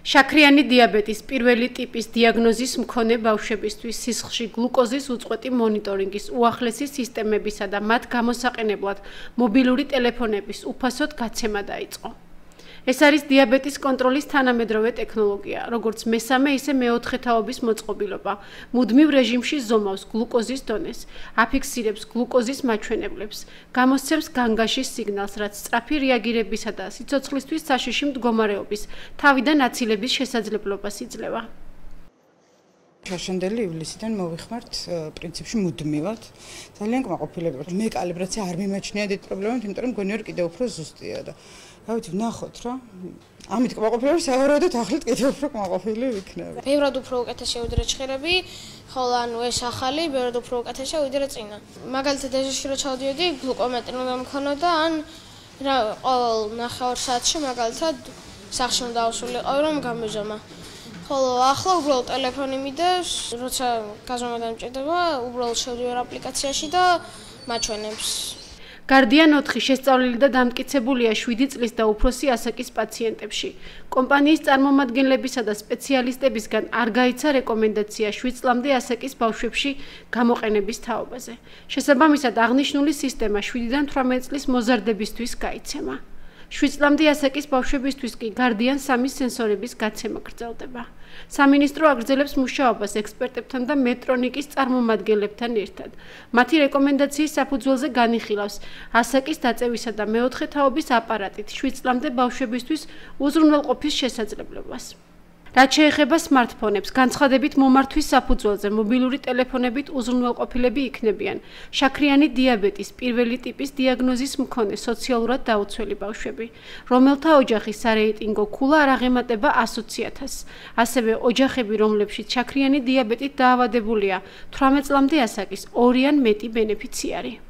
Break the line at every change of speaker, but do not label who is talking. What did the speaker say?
შაქრიანი დიაბეტის პირველი ტიპის დიაგნოზის მქონე ბავშვებისთვის სისხლში გლუკოზის უწყვეტი მონიტორინგის უახლესი სისტემებისა და მათ გამოსაყენებლად მობილური ტელეფონების უფასოდ გაცემა დაიწყო. ეს არის დიაბეტის კონტროლის თანამედროვე ტექნოლოგია, როგორც მესამე, ისე მეოთხე თაობის მოწყობილობა. მუდმივ რეჟიმში ზომავს გლუკოზის დონეს, აფიქსირებს გლუკოზის მაჩვენებლებს, გამოსცემს განგაშის სიგნალს, რაც სწრაფი რეაგირებისა და სიცოცხლისთვის საშიში მდგომარეობის თავიდან აცილების შესაძლებლობას იძლევა.
შაშანდელი ივლისიდან მოვიხმართ პრინციპში მუდმივად. ძალიან კმაყოფილება. მე კალიბრაცია არ მიმაჩნია დიდ პრობლემად, იმიტომ რომ მგონი ვარ კიდევ უფრო ზუსტია და გავიცი ვნახოთ რა. ამით კმაყოფილება სავარაუდოდ ახლით კიდევ უფრო კმაყოფილი ვიქნები.
ბევრად უფრო უკეთესია ვიდრე ჭხირები, ხოლო ანუ ეს ახალი ბევრად უფრო უკეთესია ვიდრე წინა. მაგალითად ეჟეში რო ჩავდიოდი, გლუკომეტრი უნდა მქონოდა ან რა ყოველ ნახევარ საათში მაგალითად სახში უნდა ავსულიყო რომ გამეζომა. ხოლო ახლა უბრალოდ ტელეფონი მიდევს, როცა გაზომა დამჭირდება, უბრალოდ შევდივარ აპლიკაციაში და მაჩვენებს.
Guardian 4 შესწავლილი და დამტკიცებულია 7 წლის და უფროსი ასაკის პაციენტებში. კომპანიის წარმომადგენლებისა და სპეციალისტებისგან არ გაიცა რეკომენდაცია 7 წლამდე ასაკის ბავშვებში გამოყენების თაობაზე. შესაბამისად, აღნიშნული სისტემა 7-დან 18 წლის მოზარდებისთვის გაიცემა. 7 წლამდე ასაკის ბავშვებისთვის კი Guardian 3 სენსორების გაცემა გრძელდება. სამინისტრო აგრძელებს მუშაობას ექსპერტებთან და მეტრონიკის წარმომადგენლებთან ერთად. მათი რეკომენდაციის საფუძველზე განიხილავს ასაკის დაწევისა და მეოთხე თაობის აპარატით 7 წლამდე ბავშვებისთვის უზრუნველყოფის შესაძლებლობას. რაც შეეხება smartphone-ებს, განცხადებით მომართვის საფუძველზე მობილური ტელეფონებით უზრუნველყოფილები იქნებიან შაქრიანი დიაბეტის პირველი ტიპის დიაგნოზის მქონე სოციალურად დაუცველი ბავშვები, რომელთა ოჯახი სარეიტინგო ქულა არ აღემატება 120.000-ს. ასევე ოჯახები, რომლებშიც შაქრიანი დიაბეტით დაავადებულია 18 წლამდე ასაკის 2 ან მეტი ბენეფიციარი.